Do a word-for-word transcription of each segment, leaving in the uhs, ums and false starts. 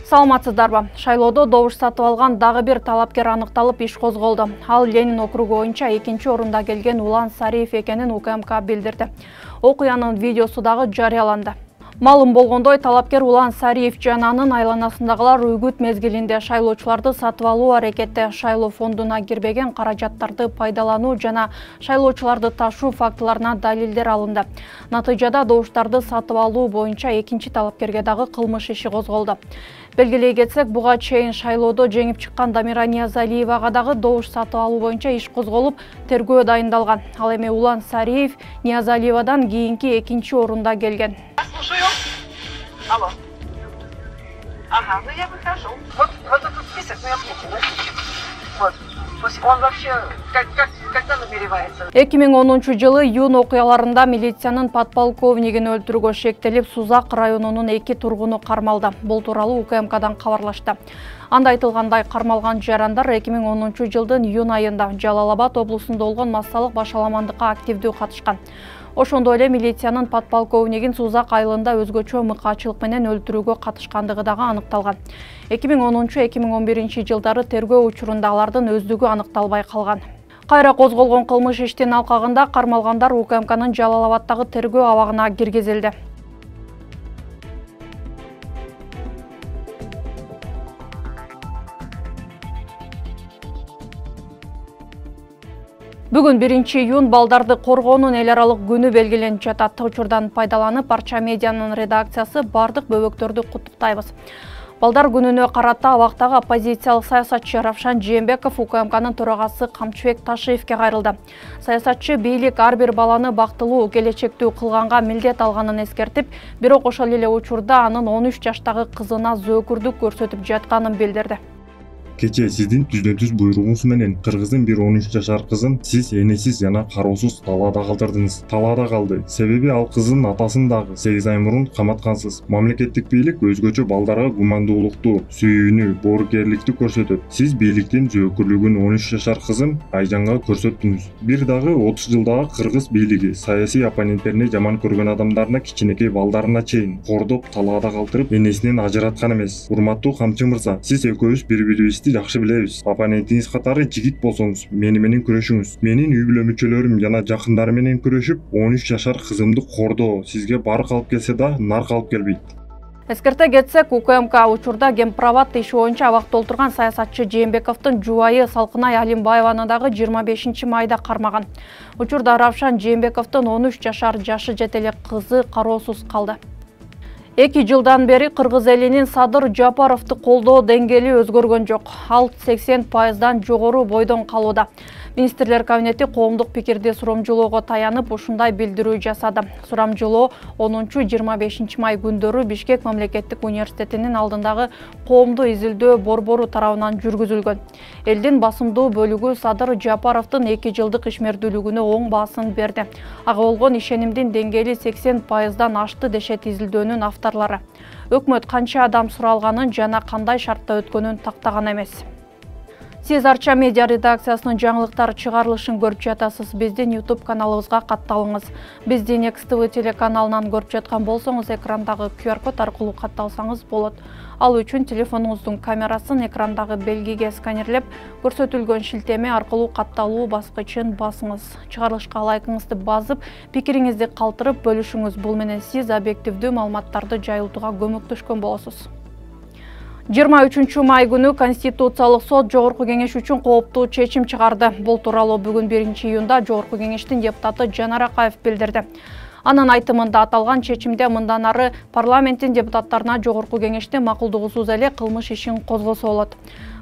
Саламатсыздарбы? Шайлоодо добуш сатып алган дагы бир талапкер аныкталып иш козголду. Ал Ленин округу боюнча экинчи орунда келген Улан Сариев экенин У К М К билдирди. Окуянын видеосу дагы жарыяланды. Малым болгондой, талапкер Улан Сариев жана анын айланасындагылар үгүт мезгилинде шайлоочуларды сатып алуу аракети, шайлоо фондуна кирбеген каражаттарды пайдалануу жана шайлоочуларды ташуу фактыларына далилдер алынды. Натыйжада добуштарды сатып алуу боюнча экинчи талапкерге дагы кылмыш иши козголду. Белгилей кетсек, буга чейин шайлоодо жеңип чыккан Дамира Ниязалиевага дагы добуш сатып алуу боюнча иш козголуп, тергөө дайындалган. Ал эми Улан Сариев Ниязалиевадан кийинки экинчи орунда келген. Слушаю. Алло. Ага, ну я выхожу. Вот, вот этот список, ну я отметила. Вот. То есть он вообще как, как, когда намеревается? эки миң онунчу жылы июнь окуяларында милициянын подполковнигин өлтүрүүгө шектелип, Сузак районунун эки тургуну кармалды. Бул тууралуу У К М Кдан кабарлашты. Анда айтылгандай, кармалган жарандар эки миң онунчу жылдын июнь айында Жалал Абад облусунда болгон массалык башаламандыкка активдүү катышкан. Ошондой эле милициянын подполковнигин Сузак айылында өзгөчө мыкаачылык менен өлтүрүүгө катышкандыгы дагы аныкталган. эки миң онунчу — эки миң он биринчи жылдары тергөө учурунда алардын өздүгү аныкталбай калган. Кайра козголгон кылмыш иштин алкагында кармалгандар У К М Кнын Жалал Абадтагы тергөө абагына киргизилди. Бүгүн биринчи июнь балдарды коргоонун эл аралык күнү белгиленип жатат. Учурдан пайдаланып, Арча медианын редакциясы бардык бөбөктөрдү куттуктайбыз. Балдар күнүнө карата абактагы оппозициялык саясатчы Равшан Жээнбеков У К М Кнын төрагасы Камчыбек Ташиевке кайрылды. Саясатчы бийлик ар бир баланы бактылуу, келечектүү кылганга милдет алганын эскертип, бирок ошол эле учурда анын он үч жаштагы кызына зөөкүрдүк көрсөтүп жатканын билдирди. Кече сиздин түздөн-түз буйругуңуз менен кыргыздын бир он үч жашар кызын сиз энесиз жана кароосуз талаада калтырдыңыз. Талаада калды. Себеби ал кыздын атасын дагы сегиз ай мурун каматкансыз. Мамлекеттик бийлик өзгөчө балдарга гумандуулукту, сүйүүнү, боорукерликти көрсөтөт. Сиз бийликтин зөөкүрлүгүн он үч жашар кызым Айжанга көрсөттүңүз. Бир дагы отуз жылдагы кыргыз бийлиги саясий оппоненттерине жаман көргөн адамдарына кичинекей балдарына чейин кордоп, талаада калтырып, энесинен ажыраткан эмес. Урматтуу Камчы мырза, сиз экөөбүз бири-бирибизди жакшы билебиз. Оппонентиңиз катары жигит болсоңуз, мени менен күрөшүңүз. Менин үй бүлө мүчөлөрүм жана жакындарым менен күрөшүп, он үч жашар кызымды кордоо сизге барк алып келсе да, нарк алып келбейт. Эскерте кетсек, У К М К учурда Гемпроват иши боюнча абакта олтурган саясатчы Жээнбековдун жубайы Салкынай Алимбаеваны дагы жыйырма бешинчи майда кармаган. Учурда Равшан Жээнбековдун он үч жашар жашы жете элек кызы кароосуз калды. Эки жылдан бери кыргыз элинин Садыр Жапаровду колдоо деңгээли өзгөргөн жок. Ал сексен пайыздан жогору бойдон калууда. Министрлер кабинети коомдук пикирди сурамжылоого таянып ушундай билдирүү жасады. Сурамжылоо онунчу — жыйырма бешинчи май күндөрү Бишкек мамлекеттик университетинин алдындагы коомдуу изилдөө борбору тарабынан жүргүзүлгөн. Элдин басымдуу бөлүгү Садыр Жапаровдун эки жылдык ишмердүүлүгүнө оң баасын берди. Ага болгон ишенимдин деңгээли сексен пайыздан ашты дешет изилдөөнүн авторлору. Өкмөт канча адам суралганын жана кандай шартта өткөнүн тактаган эмес. Сиз Арча медиа редакциясынын жаңылыктар чыгарылышын көрүп жатасыз. Биздин YouTube каналыбызга катталыңыз. Бизди Next T V телеканалынан көрүп жаткан болсоңуз, экрандагы Q R код аркылуу катталсаңыз болот. Ал үчүн телефонуңуздун камерасын экрандагы белгиге сканерлеп, көрсөтүлгөн шилтеме аркылуу катталуу баскычын басыңыз. Чыгарылышка лайкыңызды басып, пикириңизди калтырып бөлүшүңүз. Бул менен сиз объективдүү маалыматтарды жайылтууга көмөктөшкөн болосуз. жыйырма үчүнчү май күнү Конституциялык сот Жогорку кеңеш үчүн кооптуу чечим чыгарды. Бул тууралуу бүгүн биринчи июнда Жогорку кеңештин депутаты Жанар Акаев билдирди. Анын айтымында аталган чечимде мындан ары парламенттин депутаттарына Жогорку кеңештин макулдугусуз эле кылмыш ишин козгосо болот.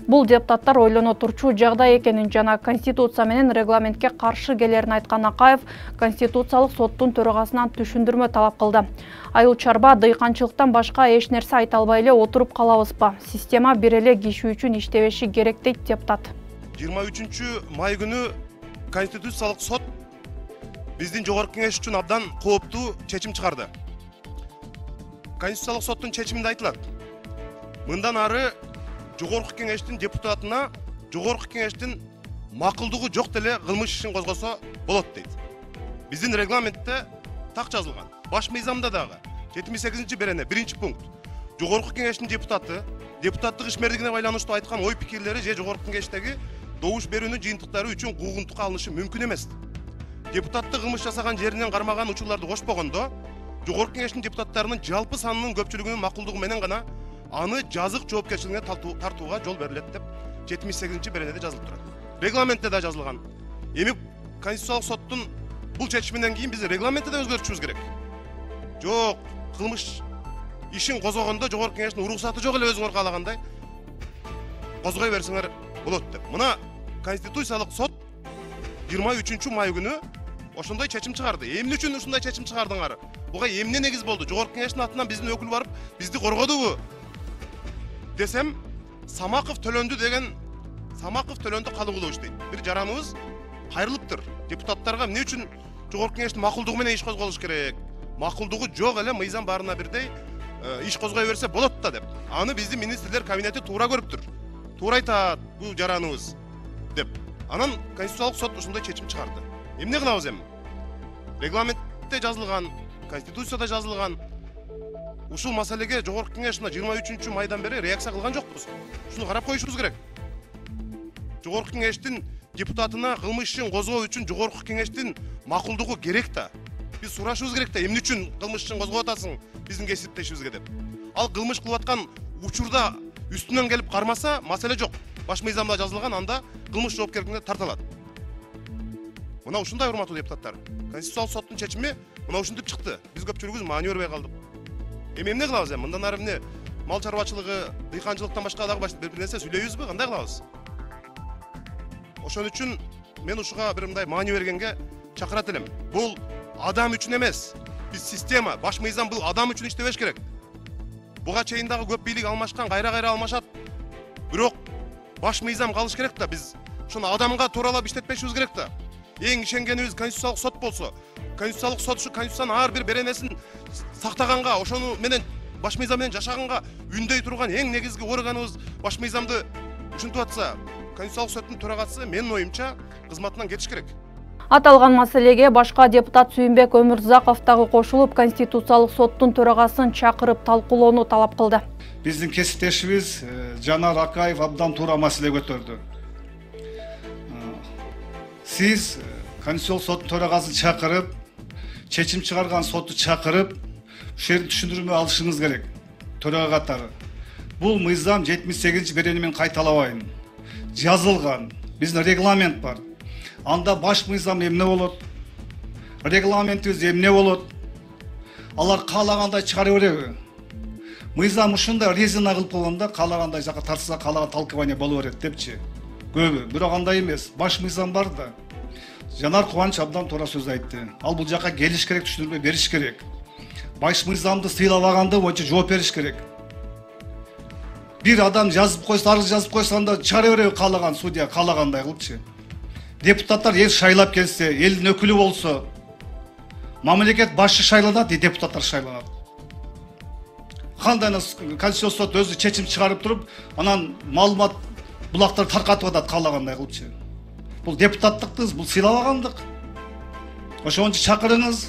Бул депутаттар ойлоно турчу жагдай экенин жана Конституция менен регламентке каршы келерин айткан Акаев Конституциялык соттун төрагасынан түшүндүрмө талап кылды. Айыл чарба, дыйканчылыктан башка эч нерсе айта албай эле отуруп калабызбы? Система бир эле киши үчүн иштебеши керек дейт депутат. жыйырма үчүнчү май күнү Конституциялык сот биздин Жогорку кеңеш үчүн абдан кооптуу чечим чыгарды. Конституциялык соттун чечиминде айтылат: мындан ары Жогорку кеңештин депутатына Жогорку кеңештин макулдугу жок деле кылмыш ишин козгосо болот дейт. Биздин регламентте так жазылган. Баш мыйзамда дагы жетимиш сегизинчи берене биринчи пункт. Жогорку кеңештин депутаты депутаттык ишмердигине байланыштуу айткан ой пикирлери же жогорку кеңештеги добуш берүүнүн жыйынтыктары үчүн куугунтукка алынышы мүмкүн эмес. Депутаттык кылмыш жасаган жеринен кармаган учурларды кошпогондо, жогорку кеңештин депутаттарынын жалпы санынын көпчүлүгүнүн макулдугу менен гана аны жазык жоопкерчилигине тартууга жол берилет деп жетимиш сегизинчи беренеде жазылып турат. Регламентте да жазылган. Эми Конституциялык соттун бул чечиминен кийин биз регламентти да өзгөртүшүбүз керек. Жок, кылмыш ишин козгогондо жогорку кеңештин уруксаты жок эле өзүңөр каалагандай козгой берсеңер болот деп. Мына Конституциялык сот жыйырма үчүнчү май күнү ошондой чечим чыгарды. Эмне үчүн ушундай чечим чыгардыңар? Буга эмне негиз болду? Жогорку кеңештин атынан биздин өкүл барып, бизди коргодубу? Десем, Самаков төлөндү деген Самаков төлөндү калыбылыш дейт. Бир жараныбыз кайрылыптыр. Депутаттарга эмне үчүн жогорку кеңештин макулдугу менен иш козголуш керек? Макулдугу жок эле, мыйзам баарына бирдей иш козгой берсе болот да деп. Аны биздин министрлер кабинети туура көрүптүр. Туура айтат бул жараныбыз деп. Анан Конституциялык сот ушундай чечим чыгарды. Эмне кылабыз эми? Регламентте жазылган, Конституцияда жазылган. Ушул маселеге жогорку кеңеш мына жыйырма үчүнчү майдан бери реакция кылган жокпуз. Шуну карап коюшубуз керек. Жогорку кеңештин депутатына кылмыш ишин козгоо үчүн жогорку кеңештин макулдугу керек да. Биз сурашыбыз керек да, эмне үчүн кылмыш ишин козгоп атасың биздин кесиптешибизге деп. Ал кылмыш кылып аткан учурда үстүнөн келип кармаса, маселе жок. Баш мыйзамда жазылган, анда кылмыш жоопкерчилигине тартылат. Мына ушундай урматтуу депутаттар. Конституциялык соттун чечими мына ушинтип чыкты. Биз көпчүлүгүбүз маани бербей калдык. Эми эмне кылабыз эми? Мындан ары эмне мал чарбачылыгы, дыйканчылыктан башка дагы бир нерсе сүйлөйбүзбү? Кандай кылабыз? Ошон үчүн мен ушуга бир мындай маани бергенге чакырат элем. Бул адам үчүн эмес. Биз система, баш мыйзам бул адам үчүн иштебеш керек. Буга чейин дагы көп бийлик алмашкан, кайра-кайра алмашат. Бирок баш мыйзам калыш керек да, биз ошону адамга тууралап иштетпешибиз керек да. Эң ишенгенибиз Конституциялык сот болсо, Конституциялык сот ушу Конституциянын ар бир беренесин сактаганга, ошону менен баш мыйзам менен жашаганга үндөй турган эң негизги органыбыз баш мыйзамды ушинтип атса, Конституциялык соттун төрагасы менин оюмча кызматынан кетиш керек. Аталган маселеге башка депутат Сүйүнбек Өмүрзаков дагы кошулуп, Конституциялык соттун төрагасын чакырып талкуулоону талап кылды. Биздин кесиптешибиз Жанар Акаев абдан туура маселе көтөрдү. Сиз Конституциялык соттун төрагасын чакырып, чечим чыгарган сотту чакырып, ушул жерди түшүндүрмө алышыңыз керек. Төрага катары. Бул мыйзам жетимиш сегизинчи берени менен кайталабайм. Жазылган. Биздин регламент бар. Анда баш мыйзам эмне болот? Регламентибиз эмне болот? Алар каалагандай чыгара береби? Мыйзам ушундай резина кылып койгондо каалагандай жака тартса, каалаган толкование боло берет депчи. Көбү, бирок андай эмес. Баш мыйзам бар да. Жанар Кубаныч абдан туура сөз айтты. Ал бул жака келиш керек, түшүндүрмө бериш керек. Баш мыйзамды сыйлабаганды боюнча жооп бериш керек. Бир адам жазып койсо, арыз жазып койсо, анда чыгара береби каалаган судья, каалагандай кылыпчы. Депутаттар эл шайлап келсе, элдин өкүлү болсо, мамлекет башы шайланат, депутаттар шайланат. Кандай Конституциялык сот өзү чечим чыгарып туруп, анан маалымат булактар таркатып атат каалагандай кылыпчы. Бул депутаттыктыз, бул сыйлабагандык. Ошон үчүн чакырыңыз,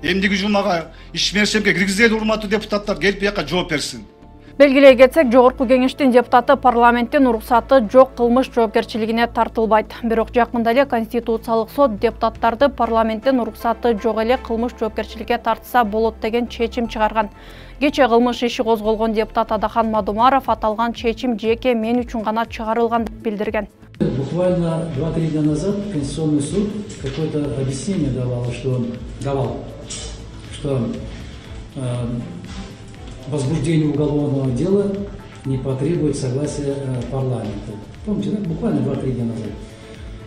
эмдиги жумага ишмершемге киргизели урматтуу депутаттар келип бияка жооп берсин. Белгилей кетсек, жогорку кеңештин депутаты парламенттин уруксаты жок кылмыш жоопкерчилигине тартылбайт. Бирок жакында эле Конституциялык сот депутаттарды парламенттин уруксаты жок эле кылмыш жоопкерчиликке тартса болот деген чечим чыгарган. Кече кылмыш иши козголгон депутат Адахан Мадумаров аталган чечим жеке мен үчүн гана чыгарылган деп билдирген. Буквально два-три дня назад Конституционный суд какое-то объяснение давал, что он давал, что э, возбуждение уголовного дела не потребует согласия э, парламента. Помните, да? Буквально два-три дня назад.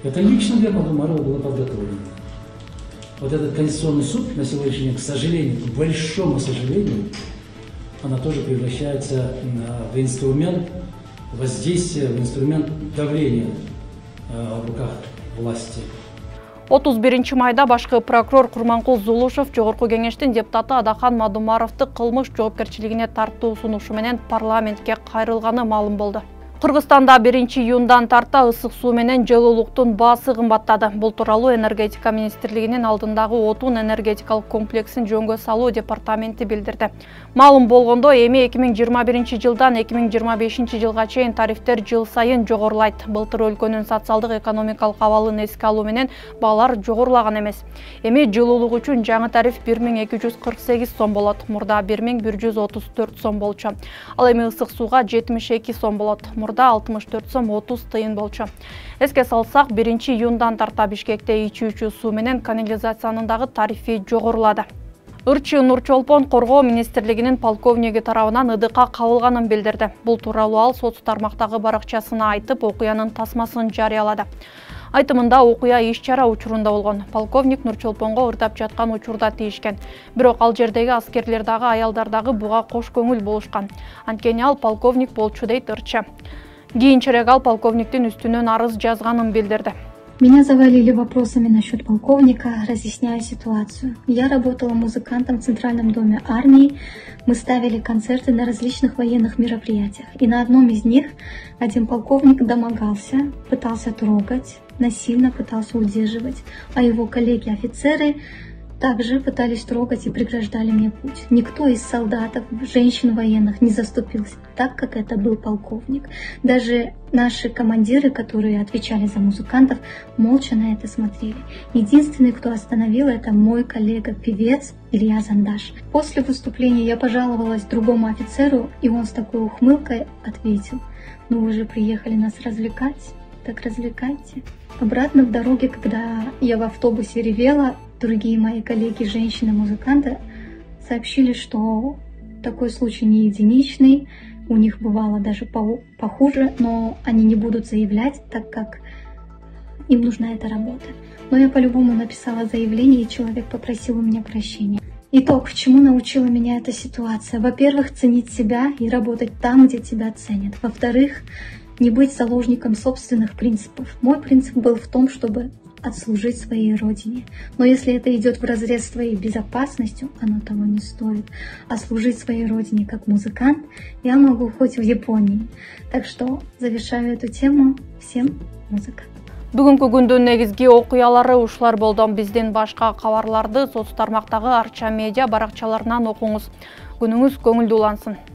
Это лично для Мадумарова было подготовлено. Вот этот Конституционный суд на сегодняшний день, к сожалению, к большому сожалению, она тоже превращается э, в инструмент воздействия, в инструмент давления э, в руках власти. отуз биринчи майда башкы прокурор Курманкул Зулушев жогорку кеңештин депутаты Адахан Мадумаровду кылмыш жоопкерчилигине тартуу сунушу менен парламентке кайрылганы маалым болду. Кыргызстанда биринчи июндан тарта ысык суу менен жылуулуктун баасы кымбаттады. Бул тууралуу энергетика министрлигинин алдындагы отун энергетикалык комплексин жөнгө салуу департаменти билдирди. Маалым болгондо, эми эки миң жыйырма биринчи жылдан эки миң жыйырма бешинчи жылга чейин тарифтер жыл сайын жогорулайт. Былтыр өлкөнүн социалдык экономикалык абалын эске алуу менен баалар жогорулаган эмес. Эми жылуулук үчүн жаңы тариф бир миң эки жүз кырк сегиз сом болот. Мурда бир миң бир жүз отуз төрт сом болчу. Ал эми ысык сууга жетимиш эки сом болот. Мурда алтымыш төрт сом отуз тыйын болчу. Эске салсак, биринчи июндан тарта Бишкекте ичүүчү суу менен канализациянын дагы тарифи жогорулады. Ырчы Нурчолпон коргоо министрлигинин полковниги тарабынан ыдыкка кабылганын билдирди. Бул тууралуу ал соц тармактагы баракчасына айтып, окуянын тасмасын жарыялады. Айтымында окуя иш-чара учурунда болгон. Полковник Нурчолпонго ырдап жаткан учурда тийишкен. Бирок ал жердеги аскерлер дагы, аялдар дагы буга кош көңүл болушкан. Анткени ал полковник болчу дейт Ырчы. Кийинчерээк ал полковниктин үстүнөн арыз жазганын билдирди. Меня завалили вопросами насчет полковника, разъясняя ситуацию. Я работала музыкантом в Центральном доме армии. Мы ставили концерты на различных военных мероприятиях. И на одном из них один полковник домогался, пытался трогать, насильно пытался удерживать, а его коллеги-офицеры также пытались трогать и преграждали мне путь. Никто из солдатов, женщин военных не заступился, так как это был полковник. Даже наши командиры, которые отвечали за музыкантов, молча на это смотрели. Единственный, кто остановил, это мой коллега-певец Илья Зандаш. После выступления я пожаловалась другому офицеру, и он с такой ухмылкой ответил: «Ну вы же приехали нас развлекать, так развлекайте». Обратно в дороге, когда я в автобусе ревела, другие мои коллеги, женщины-музыканты, сообщили, что такой случай не единичный, у них бывало даже похуже, но они не будут заявлять, так как им нужна эта работа. Но я по-любому написала заявление, и человек попросил у меня прощения. Итог, к чему научила меня эта ситуация? Во-первых, ценить себя и работать там, где тебя ценят. Во-вторых, не быть заложником собственных принципов. Мой принцип был в том, чтобы отслужить своей родине. Но если это идет вразрез с твоей безопасностью, оно того не стоит. А служить своей родине как музыкант я могу хоть в Японии. Так что завершаю эту тему. Всем музыка. Бүгүнкү күндүн негизги окуялары ушулар болду. Биздин башка кабарларды соц тармактагы Арча медиа баракчаларынан окуңуз. Күнүңүз көңүлдүү улансын.